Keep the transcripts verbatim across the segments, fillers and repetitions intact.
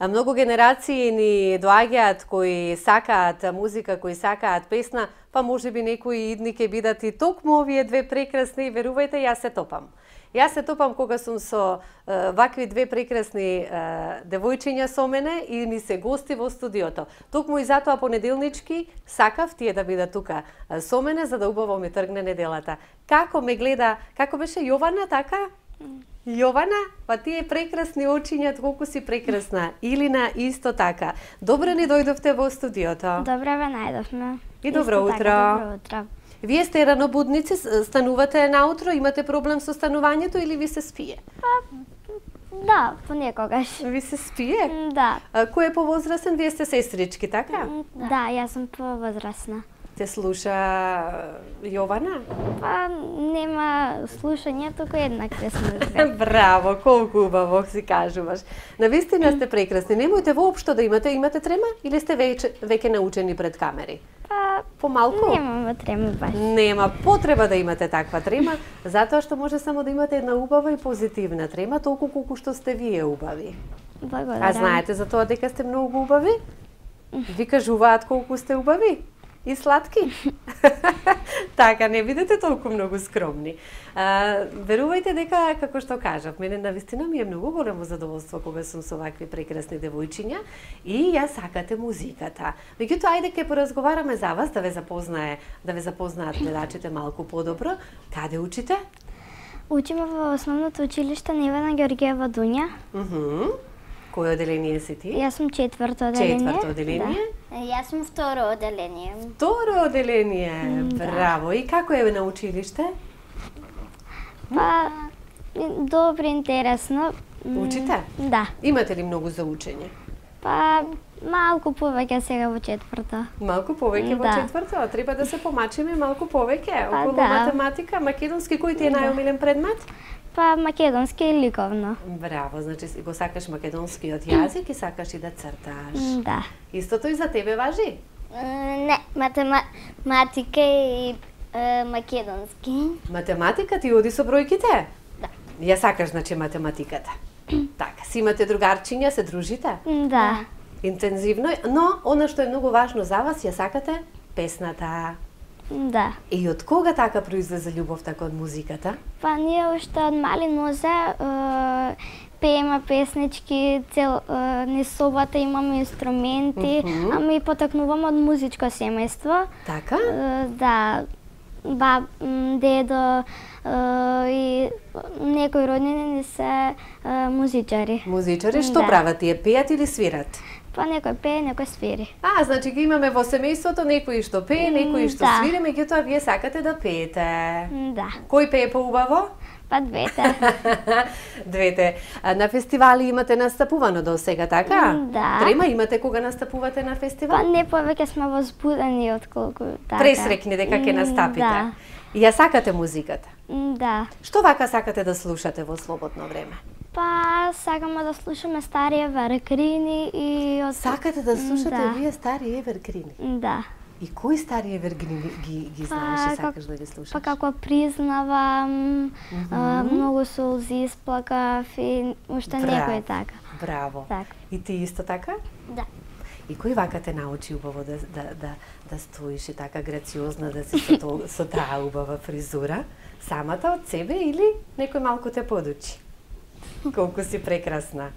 Многу генерации ни доаѓаат кои сакаат музика, кои сакаат песна, па може би некои идни ќе бидат и токму овие две прекрасни, верувајте, јас се топам. Јас се топам кога сум со е, вакви две прекрасни е, девојчиња со мене и ми се гости во студиото. Токму и затоа понеделнички сакав тие да бидат тука со мене за да убаво ми тргне неделата. Како ме гледа, како беше Јована, така? Јована, па тие прекрасни очиња, колку си прекрасна. Илина исто така. Добро ни дојдовте во студиото. Добро ве најдовме. И добро Исто утро. Така, добро утро. Вие сте ранобудници, станувате наутро, имате проблем со станувањето или ви се спие? Па, да, понекогаш. Ви се спие? Да. А, кој е повозрасен? Вие сте сестрички, така? Да, да, јас сум повозрасна. Те слуша Јована? Па, нема слушање, туку еднак песна. Браво, колку убаво си кажуваш. Навистина сте прекрасни. Немојте воопшто да имате, имате трема или сте веќе, веќе научени пред камери? Па, помалку? Немаме трема баш. Нема потреба да имате таква трема, затоа што може само да имате една убава и позитивна трема, толку колку што сте вие убави. Благодарам. А знаете за тоа дека сте многу убави? Ви кажуваат колку сте убави? И сладки. Така, не бидете толку многу скромни. А, верувајте дека, како што кажав, мене навистина ми е многу големо задоволство кога сум со вакви прекрасни девојчиња и ја сакате музиката. Меѓутоа, ајде ке поразговараме за вас, да ве запознае, да ве запознаат гледачите малку подобро. Каде учите? Учиме во основното училиште Невена Георгиева Дуња. Мхм. Кој оделение си ти? Јас сум четврто оделение. Четврто оделение? Да. Јас сум второ оделение. Второ оделение. Да. Браво. И како е на училиште? Па, добро, интересно. Учите? Да. Имате ли многу за учење? Па, малку повеќе сега во четврто. Малку повеќе во Да. четврто, а треба да се помачиме малку повеќе Па, околу да. математика, македонски, кој ти е Да. најомилен предмет? Па, македонски и ликовно. Браво, значи го сакаш македонскиот јазик и сакаш и да црташ. Да. Истото и за тебе важи? Не, математика и е, македонски. Математика ти оди со бројките? Да. Ја сакаш, значи, математиката. Така, си имате другарчиња, се дружите? Да. Интензивно, но она што е многу важно за вас, ја сакате песната. Да. И од кога така произлезе љубовта кон музиката? Па ние уште од мали нозе е, пееме песнички, цел е, низ собата имаме инструменти, Мгм. ама и потекнуваме од музичко семејство. Така? Е, да, баб, м, дедо е, и некои роднини ни се е, музичари. Музичари, што Да. прават тие? Пеат или свират? Па некој пее, некој свири. А, значи ги имаме во семејството некои што пее, некои што Да. свири, меѓутоа вие сакате да пеете. М, Да, Кој пее поубаво? па двете. Двете. А, на фестивали имате настапувано до сега, така? М, да. Трема имате кога настапувате на фестивал? Па не повеќе сме возбудени отколку така. Пресрекни дека ќе М, настапите. Да. И ја сакате музиката. М, Да. Што вака сакате да слушате во слободно време? Па сакаме да слушаме стари евергрини и од... Сакате да слушате Да. вие стари евергрини? Да. И кои стари евергрини ги, ги знаеш и сакаш да ги слушаш? Па како признавам, а, многу солзи исплакав и уште Браво. некој така. Браво. Така. И ти исто така? Да. И кој вака те научи убаво да, да, да, да стоиш и така грациозна, да си со, то, со таа убава фризура? Самата од себе или некој малку те подучи? Колку си прекрасна.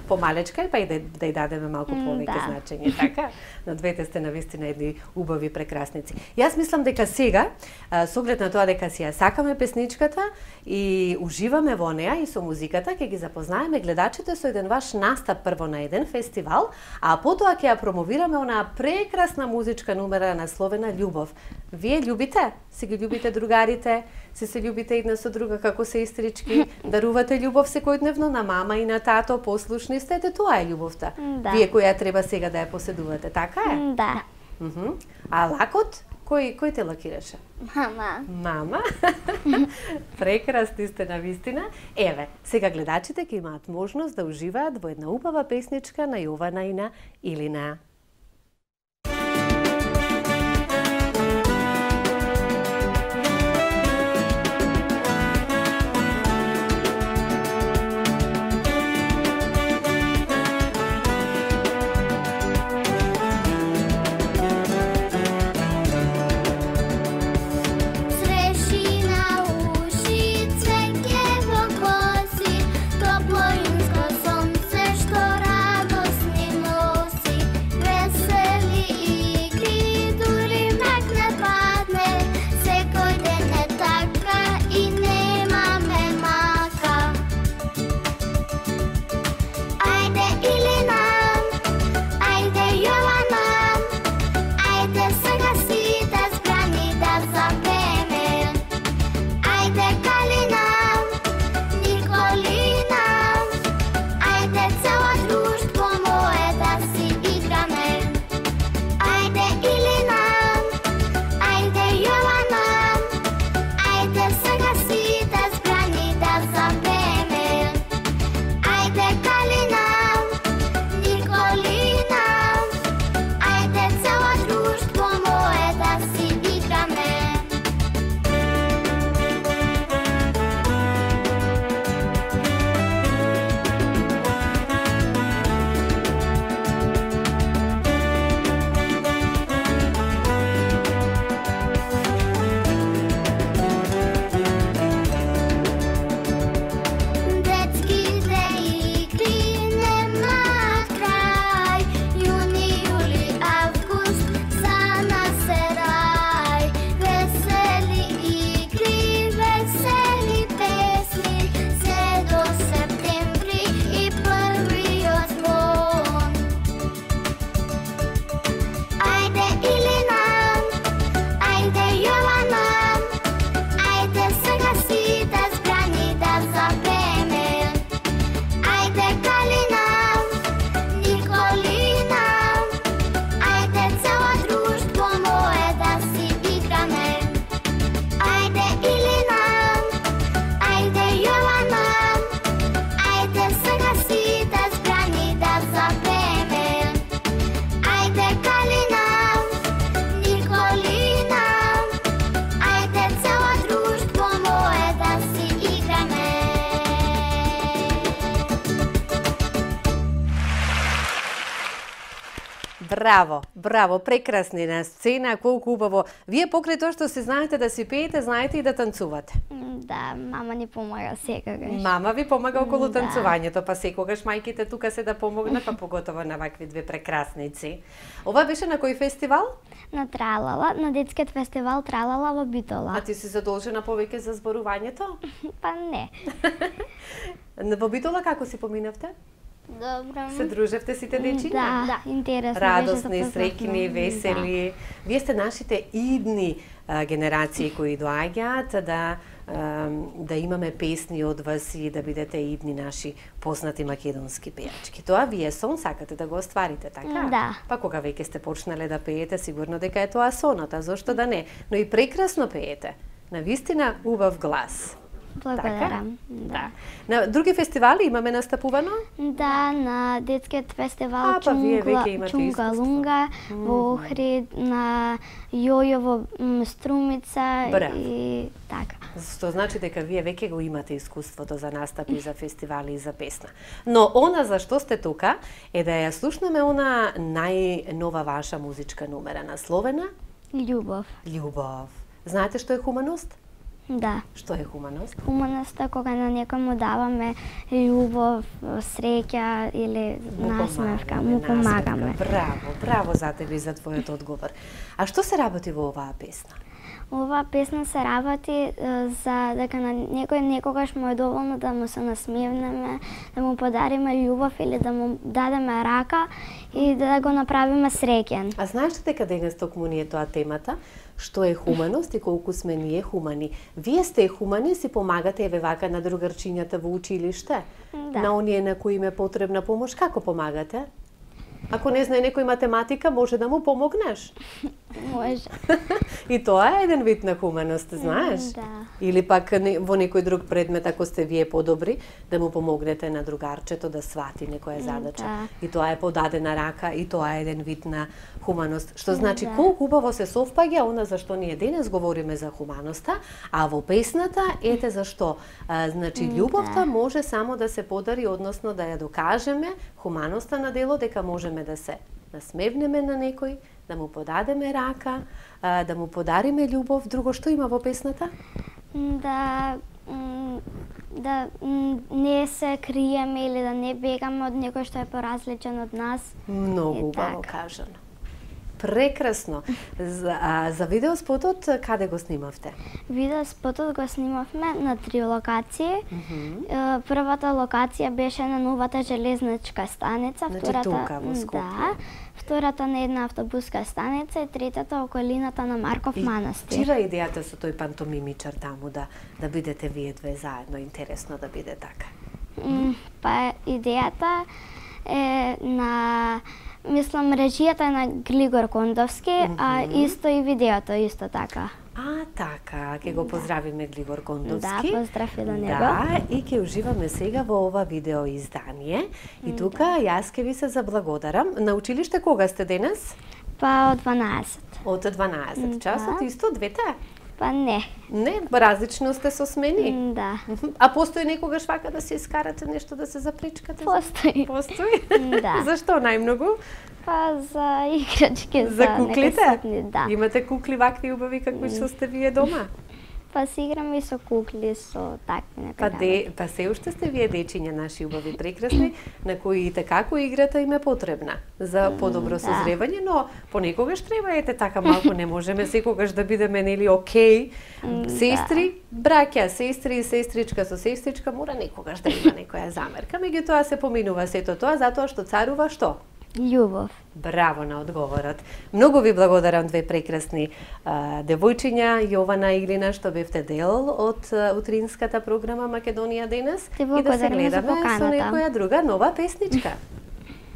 Помалечка е, па и да, да ја дадеме малку М, повеќе да. значење, така? На двете сте навистина едни убави прекрасници. Јас мислам дека сега, а, со оглед на тоа дека си ја сакаме песничката и уживаме во неа и со музиката, ќе ги запознаеме гледачите со еден ваш настап прво на еден фестивал, а потоа ќе ја промовираме онаа прекрасна музичка numera насловена Љубов. Вие љубите? Си ги љубите другарите? Си се љубите една со друга како сестрички? Дарувате љубов секојдневно на мама и на тато, послушни сте, ете тоа е љубовта. Да. Вие која треба сега да ја поседувате, така е? М, Да. Мгм. А лакот? Кој, кој те лакираше? Мама. Мама. Прекрасни сте навистина. Еве, сега гледачите ќе имаат можност да уживаат во една убава песничка на Јована и на Илина. Браво, браво, прекрасни на сцена, колку убаво. Вие покрај тоа што се знаете да си пеете, знаете и да танцувате. Да, мама ни помага секогаш. Мама ви помага околу Да. танцувањето, па секогаш мајките тука се да помогнат, па поготово на вакви две прекрасници. Ова беше на кој фестивал? На Тралала, на детскиот фестивал Тралала во Битола. А ти си задолжена повеќе за зборувањето? Па не. Во Битола како си поминавте? Добро. Се дружевте сите дечиња? Да, да, интересно Радосни, беше, среќни, весели. Вие сте нашите идни а, генерации кои доаѓаат да а, да имаме песни од вас и да бидете идни наши познати македонски пејачки. Тоа вие сон сакате да го остварите, така? Да. Па кога веќе сте почнале да пеете, сигурно дека е тоа сонот, а зошто да не? Но и прекрасно пеете. Навистина убав глас. Благодарам. Да. На други фестивали имаме настапувано? Да, на детскиот фестивал А, па вие веќе имате Чунга искуство. Лунга, во Охрид, на Јојово м, Струмица Браво. и така. Што значи дека вие веќе го имате искуството за настапи, за фестивали и за песна. Но она за што сте тука е да ја слушнеме она најнова ваша музичка номера насловена Љубов. Љубов. Знаете што е хуманост? Да. Што е хуманост? Хуманост е кога на некој му даваме љубов, среќа или насмевка, му помагаме. Браво, браво за тебе и за твојот одговор. А што се работи во оваа песна? Оваа песна се работи е, за дека на некој некогаш му е доволно да му се насмевнеме, да му подариме љубов или да му дадеме рака и да го направиме среќен. А знаеш дека денес токму ни е тоа темата? Што е хуманост и колку сме ние хумани. Вие сте хумани, си помагате еве вака на другарчињата во училиште? Да. На оние на кои им е потребна помош, како помагате? Ако не знае некој математика, може да му помогнеш. Може. И тоа е еден вид на хуманост, знаеш? Да. Или пак не- во некој друг предмет, ако сте вие подобри, да му помогнете на другарчето да свати некоја задача. Да. И тоа е подадена рака, и тоа е еден вид на хуманост. Што значи, Да. колку убаво се совпаѓа она за што ние денес говориме за хуманоста, а во песната ете зашто. А, значи, љубовта може само да се подари, односно да ја докажеме, хуманоста на дело, дека можеме да се насмевнеме на некој, да му подадеме рака, а, да му подариме љубов. Друго што има во песната? Да м, да м, не се криеме или да не бегаме од некој што е поразличен од нас. Многу И убаво така. кажано. Прекрасно. За, а, за видеоспотот каде го снимавте? Видеоспотот го снимавме на три локации. Е, Првата локација беше на новата железничка станица, Значи втората тука во Скопје. да, втората на една автобуска станица и третата околината на Марков манастир. Чива е идејата со тој пантомимичар таму да да бидете вие две заедно? Интересно да биде така. М, Па идејата е на мислам режијата е на Глигор Кондовски, а исто и видеото исто така. А, така, ќе го поздравиме Глигор Кондовски. Да, поздрав и до него. Да, и ќе уживаме сега во ова видео издание. И тука јас ќе ви се заблагодарам. На училиште кога сте денес? Па од дванаесет. Од дванаесет Да. часот, исто двете? Па не. Не, различно сте со смени. М, Да. А постои некогаш вака да се искарате нешто да се запричкате? Постои. Постои? Да. Зашто најмногу? Па за играчки, За за куклите? некои ситни, да. Имате кукли вакви убави какви што сте вие дома? Па се играме и со кукли, со такви некои Па, работи. де, па се уште сте вие дечиња наши убави прекрасни, на кои и како играта им е потребна за подобро да. созревање, но понекогаш треба ете така малку, не можеме секогаш да бидеме нели окей. Сестри, браќа, сестри и сестричка со сестричка мора некогаш да има некоја замерка, меѓутоа се поминува сето тоа затоа што царува што? Љубов. Браво на одговорот. Многу ви благодарам, две прекрасни а, девојчиња, Јована и Илина, што бевте дел од а, утринската програма Македонија денес. Ти И да се благодариме за гледаме со поканата. некоја друга нова песничка.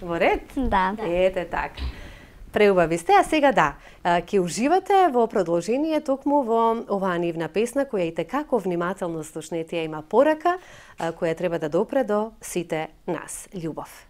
Во ред? Да. Ете така. Преубави сте, а сега да, а, ќе уживате во продолжение токму во оваа нивна песна, која и текако внимателно слушнете, ја има порака, а, која треба да допре до сите нас. Љубов.